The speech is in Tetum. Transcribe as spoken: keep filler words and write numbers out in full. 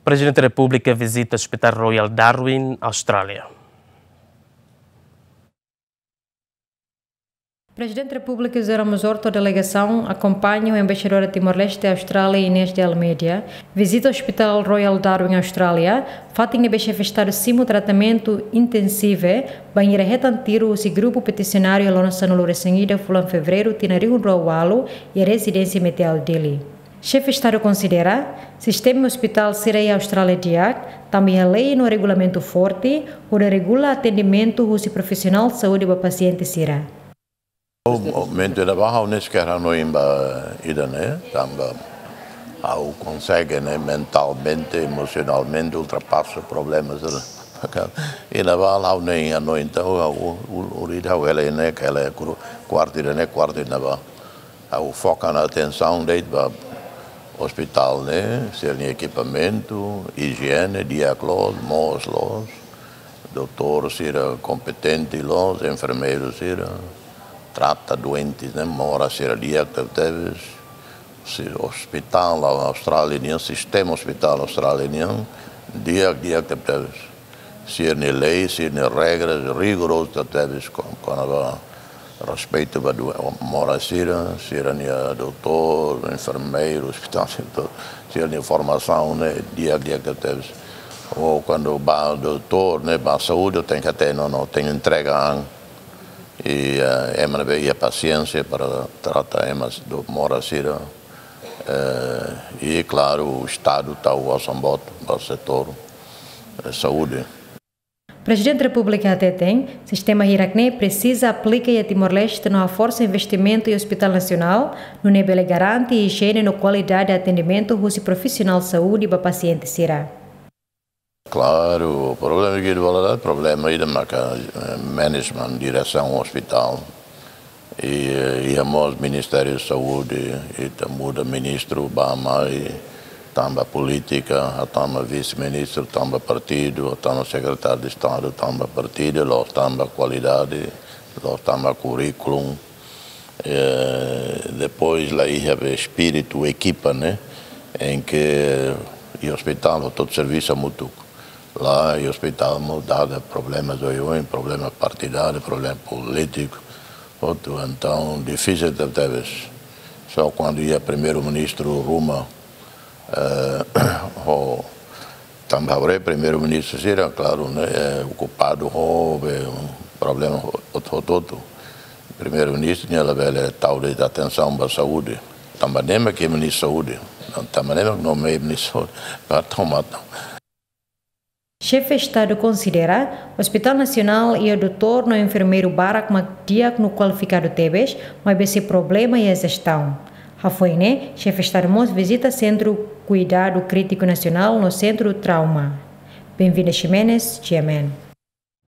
Prezidente Repúblika vizita Hospital Royal Darwin, Austrália. Prezidente Repúblika José Ramos Horta ho delegasaun akompaña ho Embaixadora Timor-Leste Austrália, Inês de Almeida, vizita Hospital Royal Darwin, Austrália, fatin ne'ebé Xefe Estadu simu tratamentu intensivu bainhira hetan tiru husi grupu petisionáriu iha loron sanulu-resin-ida fulan Fevereiru tinan rihun rua ualu iha rezidénsia Meteor Dili. Xefe Estadu konsidera sistema hospital sira iha Austrália di'ak, tanba iha lei no regulamentu forte hodi regula atendimentu husi profisionál saúde ba pasiente sira. Momentu ne'ebá ha'u ne'e sekeer hanoin ba ida-ne'e, tanba ha'u konsege ne'e mentalmente, emosionalmente ultrapasa problema sira. Iha ne'ebá ha'u ne'e hanoin, entaun ha'u u-, u-, uri ha'u hela ne'e, hela ku-, kuartu ida-ne'e, kuartu ida-ne'ebá. Ha'u foka ona atensaun de'it ba hospital ne'e, sira-nia ekipamentu, ijiene di'ak loos, moos loos, doutór sira kompetente loos, enfermeiru sira trata doente ne'e, moras sira di'ak tebetebes, si-, hospital Austrália nian, sistema hospital Austrália nian di'ak, di'ak tebetebes. Sira-nia lei, sira-nia regras rigorozu tebes kon-, kona-ba respeitu ba du-, moras sira, sira-nia doutór, enfermeiru, hospital, sira-nia formasaun ne'e di'ak, di'ak tebes. Ou kuandu ba doutór ne'e, ba saúde, tenke hatene, no, tenke entrega an. I, eh, ema ne'ebé iha pasiénsia para trata ema do-, moras sira. Eh, i klaru, Estadu tau osan boot ba setór, eh, saúde. Prezidente Repúblika hateten, sistema hirak-ne'e presiza aplika iha Timor-Leste no haforsa investimentu iha Hospital Nasionál, nune'e bele garante ijiene no kualidade atendimentu husi profisionál saúde ba pasiente sira. Klaru, problema ke iha ne'ebá, problema ida maka, eh, management, diresaun hospital. I, eh, iha mós Ministériu Saúde, ita muda ministru bá-mai, tanba polítika, hatama vise-ministru, tanba partidu, hatama sekretáriu de Estadu, tanba partidu, la'ós tanba kualidade, la'ós tanba kurríkulu. Eh, depois la iha be espíritu ekipa, ne'e, em que iha hospital, hotu servisu hamutuk. La'ós iha hospital mós dada problema oioin, problema partidáriu, problema polítiku, hotu, entaun difisil tebetebes. Só kuandu iha primeiru-ministru ruma, eh, ho tanba haree primeiru-ministru sira, klaru, ne'e, eh, okupadu ho be problema ho-, hotu, hotu. Primeiru-ministru nia labele tau de'it atensaun ba saúde. Tanba ne'e mak iha ministru saúde. Tanba ne'e mak nomeia ministru saúde. Ba tau matan. Xefe Estadu konsidera, Hospital Nasionál iha doutór no enfermeiru barak mak di'ak no kualifikadu tebes, maibé sei problema iha jestaun. Hafoin ne'e, Xefe Estadu mós vizita Sentru Kuidadu Krítiku Nasionál no Sentru Trauma. Benvinda Ximenes, G M N.